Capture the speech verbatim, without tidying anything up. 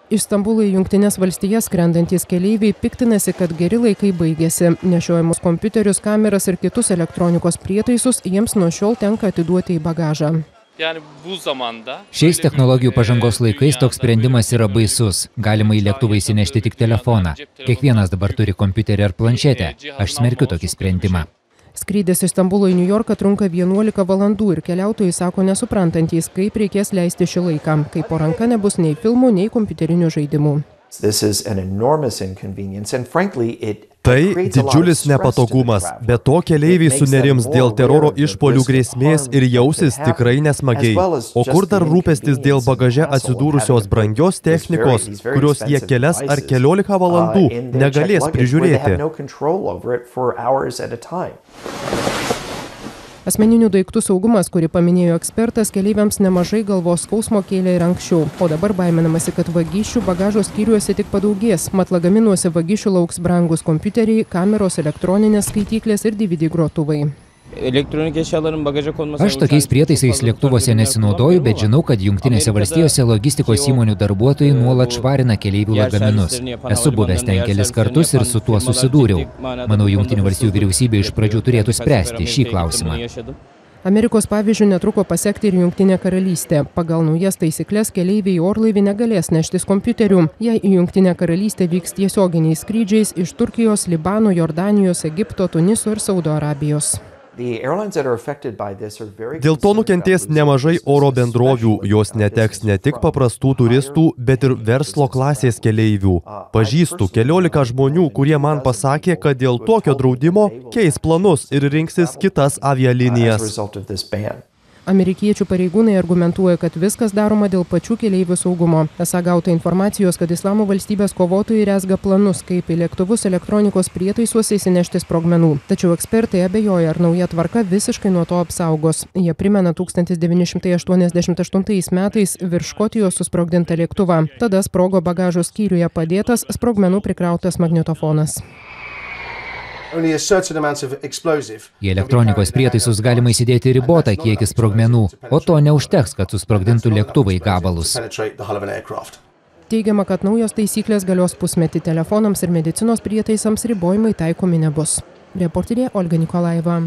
Iš Stambulo į Jungtines valstijas skrendantys keleiviai piktinasi, kad geri laikai baigėsi. Nešiojamus kompiuterius, kameras ir kitus elektronikos prietaisus jiems nuo šiol tenka atiduoti į bagažą. Šiais technologijų pažangos laikais toks sprendimas yra baisus. Galima į lėktuvą įsinešti tik telefoną. Kiekvienas dabar turi kompiuterį ar planšetę. Aš smerkiu tokį sprendimą. Skrydis iš Stambulo į Niujorką trunka vienuolika valandų ir keliautojai sako nesuprantantys, kaip reikės leisti šį laiką, kai po ranka nebus nei filmų, nei kompiuterinių žaidimų. Tai didžiulis nepatogumas, bet to keleiviai sunerims dėl teroro išpuolių grėsmės ir jausis tikrai nesmagiai. O kur dar rūpestis dėl bagaže atsidūrusios brangios technikos, kurios jie kelias ar keliolika valandų negalės prižiūrėti. Asmeninių daiktų saugumas, kurį paminėjo ekspertas, keleiviams nemažai galvos skausmo kėlė ir anksčiau, o dabar baiminamasi, kad vagysčių bagažo skyriuose tik padaugės, mat lagaminuose vagysčių lauks brangus kompiuteriai, kameros, elektroninės skaityklės ir D V D grotuvai. Aš tokiais prietaisais lėktuvuose nesinaudoju, bet žinau, kad Jungtinėse valstijose logistikos įmonių darbuotojai nuolat švarina keleivių lagaminus. Esu buvęs ten kelis kartus ir su tuo susidūriau. Manau, Jungtinių valstijų vyriausybė iš pradžių turėtų spręsti šį klausimą. Amerikos pavyzdžių netruko pasekti ir Jungtinė karalystė. Pagal naujas taisyklės keleiviai į orlaivį negalės neštis kompiuterių, jei į Jungtinę karalystę vyks tiesioginiais skrydžiais iš Turkijos, Libano, Jordanijos, Egipto, Tuniso ir Saudo Arabijos. Dėl to nukentės nemažai oro bendrovių, jos neteks ne tik paprastų turistų, bet ir verslo klasės keleivių. Pažįstu keliolika žmonių, kurie man pasakė, kad dėl tokio draudimo keis planus ir rinksis kitas avialinijas. Amerikiečių pareigūnai argumentuoja, kad viskas daroma dėl pačių keleivių saugumo. Esą gauta informacijos, kad Islamo valstybės kovotojai rezga planus, kaip į lėktuvus elektronikos prietaisuose įsinešti sprogmenų. Tačiau ekspertai abejoja, ar nauja tvarka visiškai nuo to apsaugos. Jie primena tūkstantis devyni šimtai aštuoniasdešimt aštuntais metais virš Škotijos susprogdintą lėktuvą. Tada sprogo bagažo skyriuje padėtas sprogmenų prikrautas magnetofonas. Į elektronikos prietaisus galima įsidėti ribotą kiekį sprogmenų, o to neužteks, kad susprogdintų lėktuvą į gabalus. Teigiama, kad naujos taisyklės galios pusmetį, telefonams ir medicinos prietaisams ribojimai taikomi nebus. Reporterė Olga Nikolaeva.